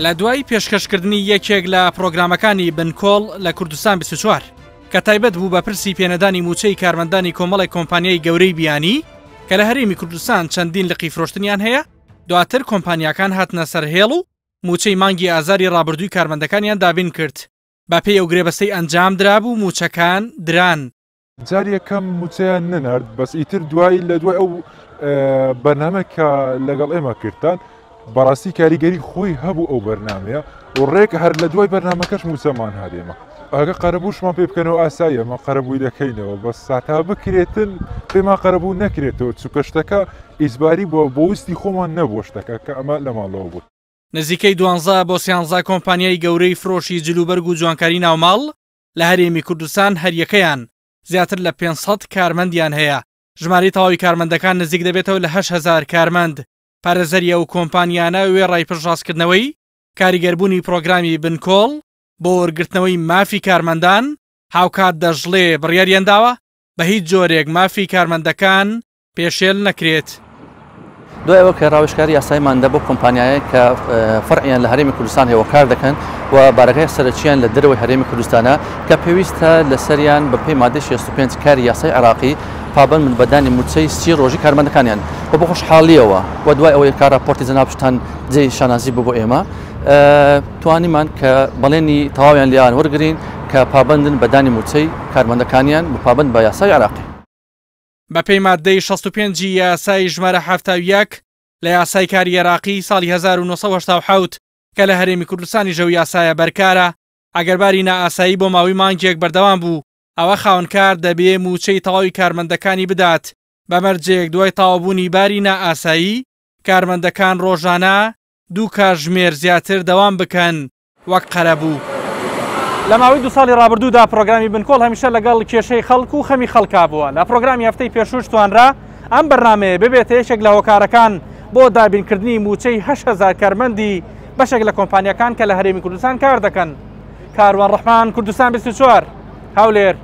لە دوای پێشکەشکردنی یەکێک لە پرۆگرامەکانی بنکۆڵ لە کوردستان 24 کە تایبەت بوو بە پرسی پێنەدانی مووچەی کارمەندانی کۆمەڵێک کۆمپانیای گەورەی بیانی کە لە هەرێمی کوردستان چەندین لقی فرۆشتنیان هەیە، دواتر کۆمپانیاکان هاتنە سەر هێڵ و مووچەی مانگی ئازاری ڕابردووی کارمەندەکانیان دابین کرد. بەپێی ئەو گرێبەستەی ئەنجام درابوو مووچەکان دران. جاری یەکەم مووچەیان نەنارد، بەس ئیتر دوای لە دوای ئەو بەرنامە کە لەگەڵ ئێمە کردتان بەڕاستی کاریگەری خۆی هەبوو ئەو بەرنمەیە و ڕێک هەر لە دوای بەرنمەکەش مووچەمان هات ئێمە ئەگە قەرەبووشمان پێ بکەنەوە ئاساییە ئەمە قەرەبووی دەکەینەوە بەس ساتا بکرێتن پێمان قەرەبوو نەکرێتەوە چونکە شتەکە ئیجباری بووە بۆ ویستی خۆمان نەبووە شتەکە کە ئەمە لە ماڵەوە بوو. نزیکەی دوانزە بۆ سیانزە کۆمپانیای گەورەی فرۆشی جلوبەرگ و جوانکاری ناوماڵ لە هەرێمی کوردستان هەریەکەیان زیاتر لە 500 کارمەندیان هەیە، ژمارەی تەواوی کارمەندەکان نزیک دەبێتەوە لە 8000 کارمەند. پارێزەری ئەو کۆمپانیانە وێڕای پشتڕاستکردنەوەی کاریگەربوونی پرۆگرامی بنکۆڵ بۆ وەرگرتنەوەی مافی کارمەندان، هاوکات دەشڵێ بڕیاریانداوە بە هیچ جۆرێک مافی کارمەندەکان پێشێل نەکرێت. دوای ئەوە کە ڕاوێژکاری یاساییمان دا بۆ کۆمپانیایەک کە فەرعیان لە هەرێمی کوردستان هەیە و کار دەکەن و بارەگای سەرەکییان لە دەرەوەی هەرێمی کوردستانە کە پێویستە لەسەریان بەپێی مادەی 65 کاری یاسای عێراقی پابەند بن بە دانی مووچەی 30 ڕۆژی کارمەندەکانیان و بە خۆشحاڵییەوە و دوای ئەوەی کە ڕاپۆرتی جەنابتان جێی شانازی بوو بۆ ئێمە توانیمان کە بەڵێنی تەواویان لێیان وەرگرین کە پابەندن بە دانی مووچەی کارمەندەکانیان و پابەند بە یاسای عێراقی. بەپێی ماددەی 65 ی یاسای ژمارە 71 لە یاسای کاری عێراقی ساڵی 1987 کە لە هەرێمی کوردستانیش ئەو یاسایە بەرکارە، ئەگەر باری نائاسایی بۆ ماوەی مانگێک بەردەوام بوو، ئەوە خاوەنکار دەبێ مووچەی تەواوی کارمەندەکانی بدات، بە مەرجێک دوای تەواوبوونی باری نائاسایی، کارمەندەکان ڕۆژانە دوو کاژمێر زیاتر دەوام بکەن. وەک قەرەبوو. لە ماوەی دوو ساڵی ڕابردوودا پرۆگرامی بنکۆڵ هەمیشە لەگەڵ کێشەی خەڵک و خەمی خەڵکا بووە. لە پرۆگرامی هەفتەی پێشووش توانرا ئەم بەرنامەیە ببێتە یەکێک لە هۆکارەکان بۆ دابینکردنی مووچەی 8000 کارمەندی بەشێک لە کۆمپانیاکان کە لە هەرێمی کوردستان کار دەکەن. کاروان ڕەحمان، کوردستان 24، هەولێر.